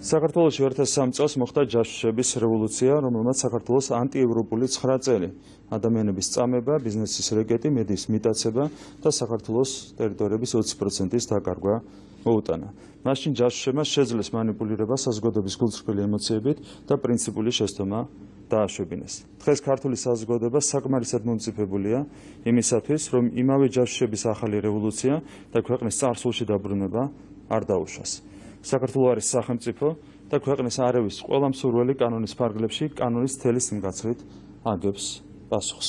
საქართველოში 2003 წელს მოხდა ჯაშუშების რევოლუცია, რომელმაც საქართველოს ანტიევროპული 9 წელი, ადამიანების წამება, ბიზნესის რეკეტი, მედიის მიტაცება და საქართველოს ტერიტორიების 20%-ის დაკარგვა მოუტანა. მაშინ ჯაშუშებმა შეძლეს მანიპულირება საზოგადოების გულწრფელი ემოციებით და პრინციპული შეცდომა დააშვებინეს. დღეს ქართული საზოგადოება საკმარისად მომწიფებულია იმისათვის, რომ იმავე ჯაშუშების ახალი რევოლუცია და ქვეყნის წარსულში დაბრუნება არ დაუშვას. საქართველო არის სახელმწიფო და ქვეყნის არევის ყველა მსურველი კანონის ფარგლებში კანონის თელი სიმკაცრით აგებს პასუხს.